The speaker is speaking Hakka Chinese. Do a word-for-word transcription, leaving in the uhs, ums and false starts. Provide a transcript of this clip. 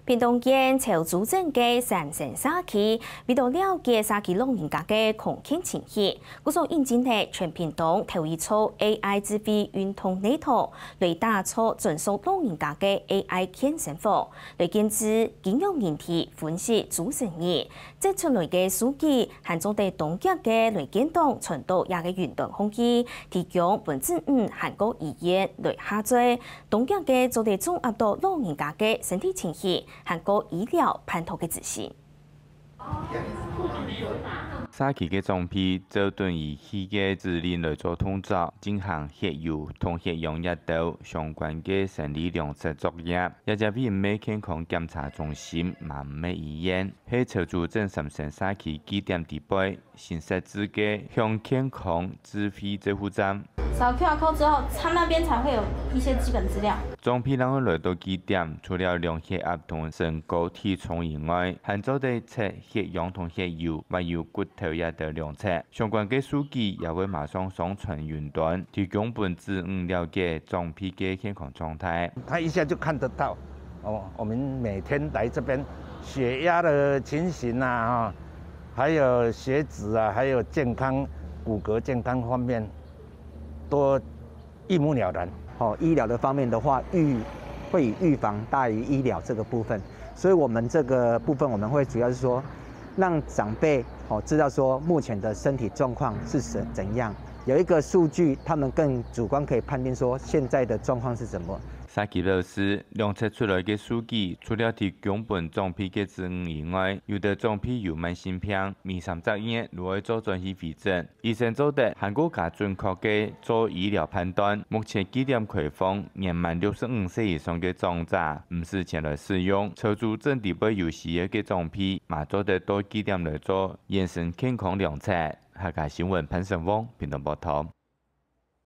屏東縣潮州鎮个三星社區，為著了解社區老人家个康健情形，故所引進了全屏東頭一座A I智慧運動系統，來打造專屬老人家个A I健身房，來建置經由人體分析主持人， 摘出來个數據，還做得當遽个來建檔傳到這个雲端空間，提供分子女還過醫院來下載，當遽个做得掌握到老人家个身體情形，還過醫療辦妥个資訊。社區个長輩照等儀器个指令來做動作，進行血油同血氧這兜相關个生理量測作業。這隻毋係健康檢查中心，嘛毋係醫院， 係潮州鎮三星社區據點底背新設置个向健康智慧照護站。掃QR code之後，它那邊才會有一些基本資料。長輩人來到據點，除了量血壓同身高體重以外，還做得測血氧同血油，還有骨頭這兜量測。相關个數據也會馬上上傳雲端，提供分子女了解長輩个健康狀態。他一下就看得到。 哦，我們每天來這邊，血壓的情形啊，哈，還有血脂啊，還有健康、骨骼健康方面，都一目了然。哦，醫療的方面的話，預，會以預防大於醫療這個部分，所以我們這個部分我們會主要是說，讓長輩，哦，知道說目前的身體狀況是怎，怎樣，有一個數據，他們更主觀可以判定說現在的狀況是怎麼。 社區表示，量測出來个數據，除了提供分長輩个指引以外，有兜長輩有慢性病，每三隻月就愛做轉去回診。醫生做得還過加準確个做醫療判斷。目前據點開放，年滿六十五歲以上个長者，毋使錢來使用。潮州鎮底背有需要个長輩，嘛做得到據點來做全身健康量測。客家新聞潘成旺，屏東報導。